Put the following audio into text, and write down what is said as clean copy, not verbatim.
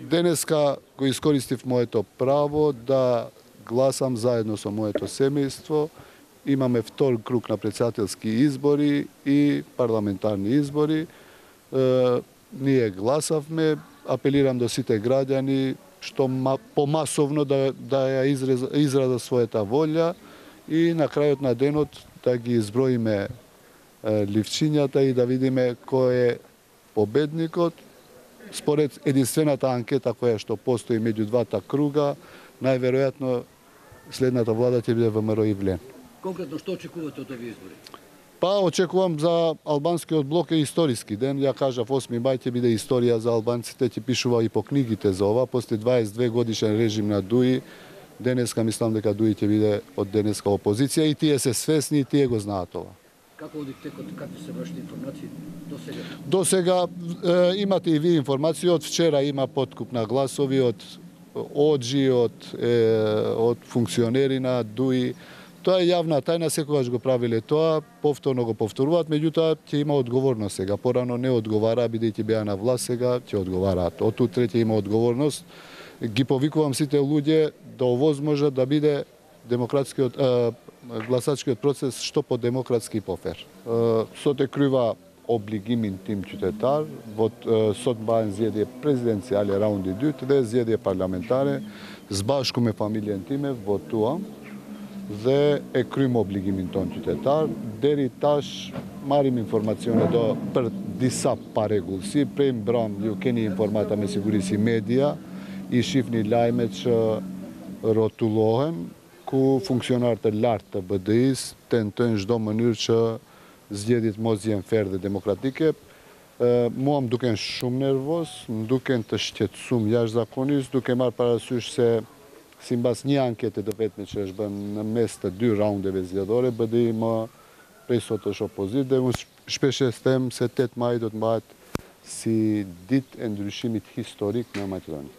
Денеска го искористив моето право да гласам заедно со моето семејство. Имаме втор круг на председателски избори и парламентарни избори. Ние гласавме, апелирам до сите граѓани што помасовно да ја изразат својата волја и на крајот на денот да ги изброиме ливчињата и да видиме кој е победникот. Според единствената анкета која што постои меѓу двата круга, најверојатно следната влада ќе биде ВМРО и Влен. Конкретно што очекувате од овие избори? Па очекувам за албанскиот блок е историски ден. Ја кажав 8 мај ќе биде историја за албанците, ќе пишува и по книгите за ова. После 22 годишен режим на Дуи, денеска мислам дека Дуи ќе биде од денеска опозиција и тие се свесни и тие го знаат ова. Како оди текот, какви се вашите информации до сега? До сега имате и ви информации. Од вчера има подкуп на гласови од ОДЖИ, од функционери на ДУИ. Тоа е јавна тајна, секогаш го правиле тоа, повторно го повторуваат, меѓутоа ќе има одговорност сега. Порано не одговара, бидејќи беа на власт, сега ќе одговараат. Од утре ќе има одговорност. Ги повикувам сите луѓе да овозможат да биде демократскиот гласачкиот процес што по-демократски и по-фер. Сот е крива облигимин тим чутетар, сот баен зједе президенцијале раунди дют, де зједе парламентаре, збашку ме фамилиен тиме, вотуам, зе е крим облигимин тон чутетар, дери таш марим информационе до диса парегулси, прем брам јукени информата ме сигуриси медија и шифни лајмеч ротулоhen, ku funksionarët e lartë të BDI-s tentojnë çdo mënyrë që zgjedhjet mos jenë fair dhe demokratike. Mua më duken shumë nervoz, më duken të shqetësuar jashtëzakonisht, duke marrë parasysh se sipas një ankete të vetme që është bën në mes të 2 raundeve zgjedhore, BDI më prej sot është opozitë dhe unë shpesh e them se 8 maj do të mbahet si ditë e ndryshimit historik në Maqedoni.